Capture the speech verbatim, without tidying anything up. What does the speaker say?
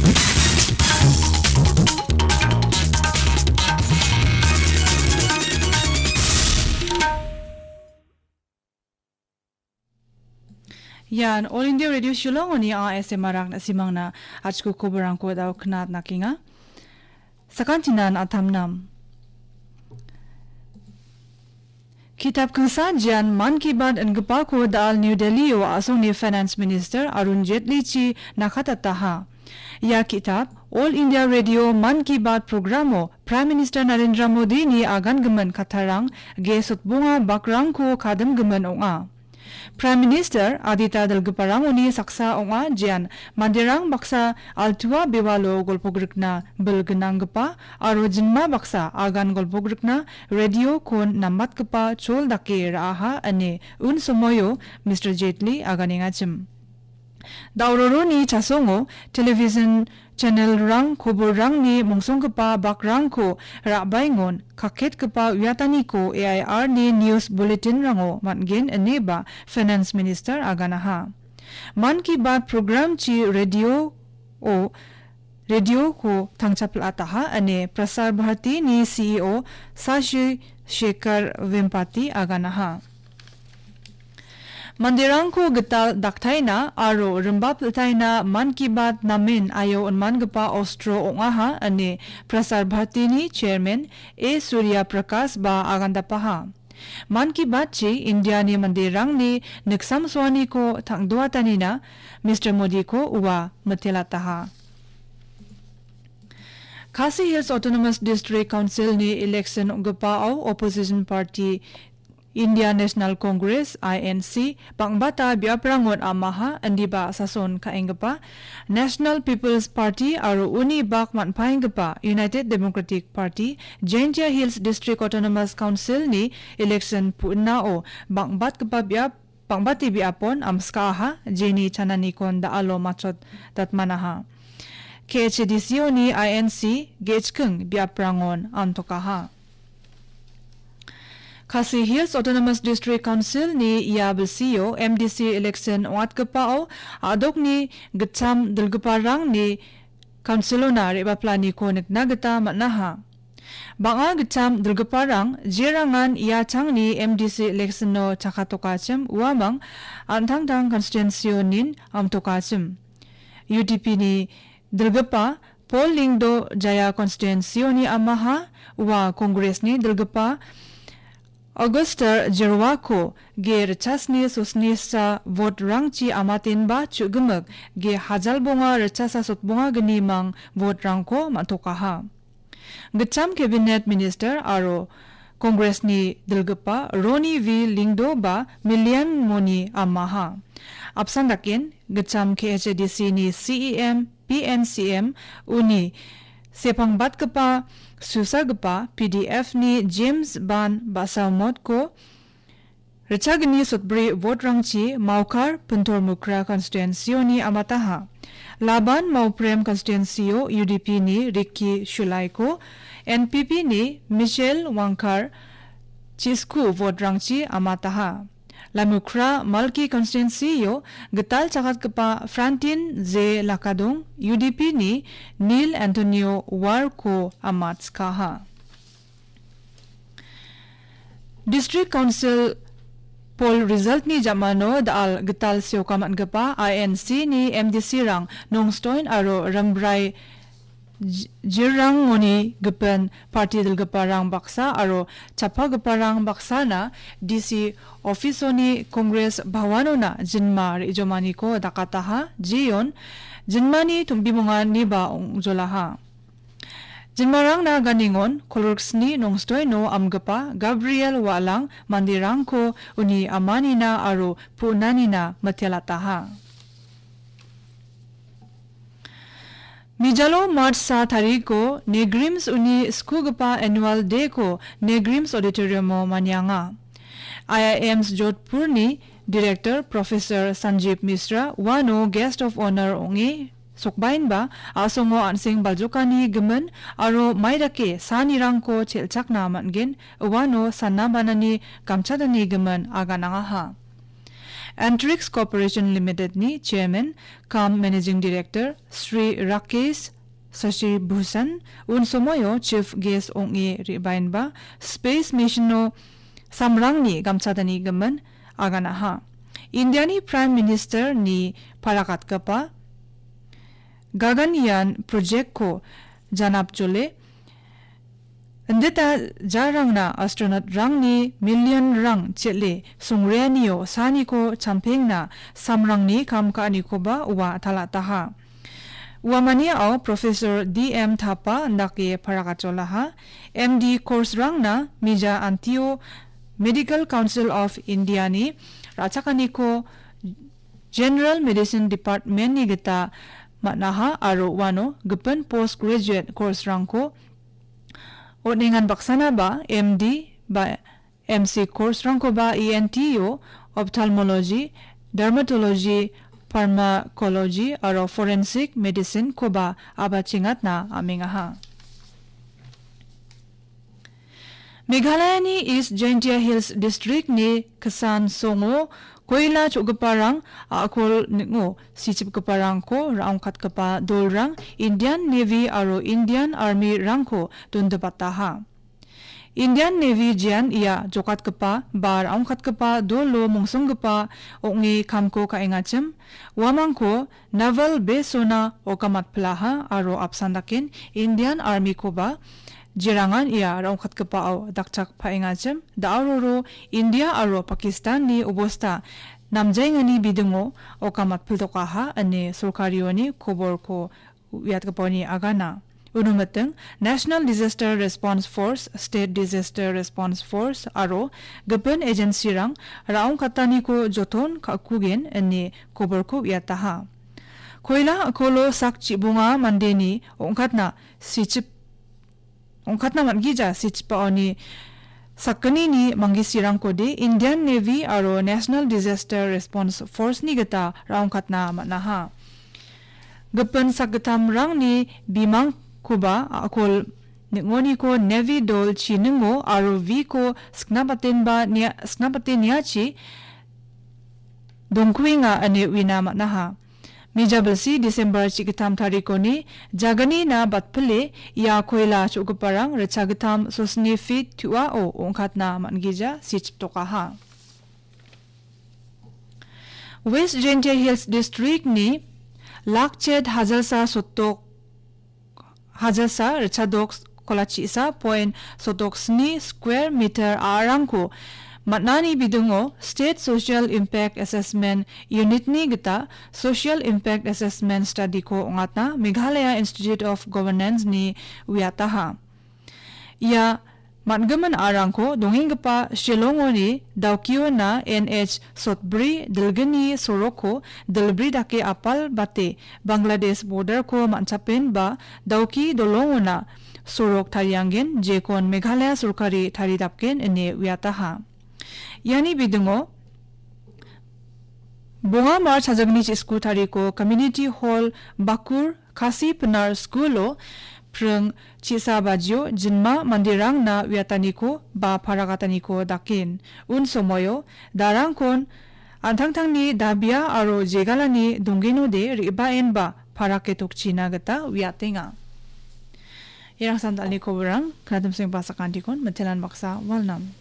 Ian All India Radio Shillong-oni A S M R-rang na·simangna achiko koborangko dao knatnakenga. Sakantinan atamnam. Kitap kingsa jian Man Ki Baat ingipako dal New Delhi-o a·songni Finance Minister Arun Jaitley-chi nakatataha. Ia kitap All India Radio Man Ki Baat programo Prime Minister Narendra Modi-ni agangimin kattarang ge sotbonga bakrangko kadimgimin ong·a. Prime Minister adita dilgiparangoni saksa ong·a, jean manderang baksa altua bewalo golpogrikna bil gnanggipa aro jinma baksa agan golpogrikna radio-kon nambatgipa chol dake ra·aha ine un somoio Mister Jaitley aganengachim. Dauroroni chasongo television channel-rang koborrangni mongsonggipa bakrangko ra·baengon kaketgipa uiataniko A I R-ni news bulletin-rango man·gen ineba Finance Minister aganaha. Man Ki Baat program-chi radio-o, radio-ko tangchapil·ataha ine Prasar Bharati-ni C E O Shashi Shekhar Vempati aganaha. Manderangko gital daktaina aro rimba pil·taina Man Ki Baat namen aio on·mangipa ostro ong·aha ine Prasar Bharati-ni chairman A Surya Prakash ba agandapaha. Man Ki Baat-chi India-ni manderangni niksamsoaniko tang·doatanina Mister Modi-ko ua mitelataha. Khasi Hills Autonomous District Council-ni election ong·gipao opposition party India National Congress, I N C, bang·bata biaprangon amaha indiba sason ka·enggipa National People's Party aro uni bak man·paenggipa United Democratic Party, Jaintia Hills District Autonomous Council-ni election pu·nao bang·batgipa biap, bang·bate biapon amskaaha, jeni chananikon da·alo machot datmanaha. K H A D C-oni I N C ge·chking biaprangon antokaha. Khasi Hills Autonomous District Council-ni ia bilsio M D C election ong·atgipao a·dokni gitcham dilgiparangni council-ona re·baplaniko nikna gita man·aha. Bang·a gitcham dilgiparang jerangan ia changni M D C election-o chakatokachim uamang an·tangtang constituency-onin amtokachim. U D P-ni dilgipa Paul Lyngdoh Jaya constituency-oni amaha, ua Congress-ni dilgipa Auguster Jerwako ge ritchasni sosnisa vote-rangchi amatenba chu·gimik ge hajalbonga ritchasa sotbonga gnimang vote-rangko man·tokaha. Gitcham Cabinet Minister aro Congress-ni dilgipa Ronnie V Lyngdoh ba million moni amaha. Apsan daken, gitcham K H A D C-ni C E M, P N C M, uni sepangbatgipa susagipa P D F-ni James Ban Basaumotko ritchagni sotbri vote-rangchi Mawkar Pintor Mukra constituency-oni amataha. Laban Mawprem constituency-o U D P-ni Ricky Shulaiko, N P P-ni Michelle Wangkar chisku vote-rangchi amataha. Lamukra Malki constituency-o gital chakatgipa Frantin J Lakadong, U D P-ni Neil Antonio Warko amatskaha. District Council poll result-ni jamano da·al gital sioka man·gipa I N C-ni M D C-rang Nongstoin aro Rimbrai J-, Jirrangoni gipin parti dilgiparang baksa aro chappagiparang baksana D C office-oni Congress Bhawanona jinma re·jomaniko dakataha, jeon jinmani tombimonganiba ong·jolaha. Jinmarangna ganingon Kolgriksni Nongstoino amgipa Gabriel Walang manderangko uni amanina aro pu·nanina mitelataha. Mijalo March sa tariko Negrims uni skugipa Annual Day-ko Negrims Auditorium-o manianga. I I Ms Jodhpurni Director Professor Sanjeev Mishra uano Guest of Honor ong·e sokbaenba a·songo an·seng baljokani gimin aro mai dake sanirangko chelchakna man·gen uano sana banani gamchatani gimin aganangaha. Antrix Corporation Limited-ni Chairman cum Managing Director Sri Rakesh Sashibhushan unsomoio Chief Guest ong·e re·baenba Space Mission-o samrangni gamchatanigimin aganaha. Indiani Prime Minister-ni parakatgipa Gaganyaan project-ko janapjole indita jarangna astronaut-rangni million-rang chel·e songreanio saniko champengna samrangni kam ka·anikoba ua talataha. Uamaniao Professor D M Thapa indake parakatjolaha. M D course-rangna mija antio Medical Council of India-ni ra·chakaniko General Medicine Department-ni gita man·aha aro uano gipin postgraduate course-rangko on·engan baksanaba M D ba M C course-rangkoba E N T-o, ophthalmology, dermatology, pharmacology aro forensic medicine-koba abachengatna amengaha. Meghalayani East Jaintia Hills District-ni Kisan Songo koila cho·giparang a·kol ning·o sichipgiparangko ra·ongkatgipa dolrang Indian Navy aro Indian Army-rangko dondipataha. Indian Navy jean ia jokatgipa ba ra·ongkatgipa dolo mongsonggipa ong·e kamko ka·engachim, uamangko Naval Base-ona okamatpilaha aro apsan daken Indian Army-koba jerangan ia ra·ongkatgipao dakchak paengachim, da·aroro India aro Pakistan-ni obosta namjaengani bidingo okamatpildokaha ine sorkarioni koborko uiatgipani agana. Uno miting, National Disaster Response Force, State Disaster Response Force aro gipin agency-rang ra·ongkataniko joton ka·kugen ine koborko uiataha. Koila a·kolo sak chibonga mandeni ong·katna sichip-, ong·katna man·gija sichipaoni sakgnini manggisirangkode Indian Navy aro National Disaster Response Force-ni gita ra·ongkatna man·aha. Gipin sakgittamrangni bimangkoba a·kol ning·oniko Navy dol chiningo aro V-ko siknabatenba nia-, siknabate niachi dongkuenga ine uina man·aha. Mijabilsi December chigittam tarikoni jaganina batpile ia koila cho·giparang ritchagittam sosni feet tu·ao ong·katna man·gija sichiptokaha. West Jaintia Hills District-ni Lakchet Hajalsa sotok Hajalsa ritchadok kolachisa point sotok sni square meter a·arangko man·ani bidingo State Social Impact Assessment Unit-ni gita Social Impact Assessment Study-ko ong·atna Meghalaya Institute of Governance-ni uiataha. Ia man·gimin a·rangko dongenggipa Shillong-oni Dawkiona N H sotbri dilgni sorokko dilbri dake apal bate Bangladesh border-ko man·chapenba Dawki dolongona sorok tarianggen, jekon Meghalaya sorkari taridapgen ine uiataha. Iani bidingo bonga March hajagni chi-, sku tariko Community Hall Bakur Khasi Pinar School-o pring chi-, sa bajio jinma manderangna uiataniko ba parakataniko daken. Un somoio darangkon an·tangtangni dabia aro jegalani donggenode re·baenba paraketokchina gita uiatenga. Iarang samdalni koborang, knatimseng basakantikon, mitelan baksa, walnam.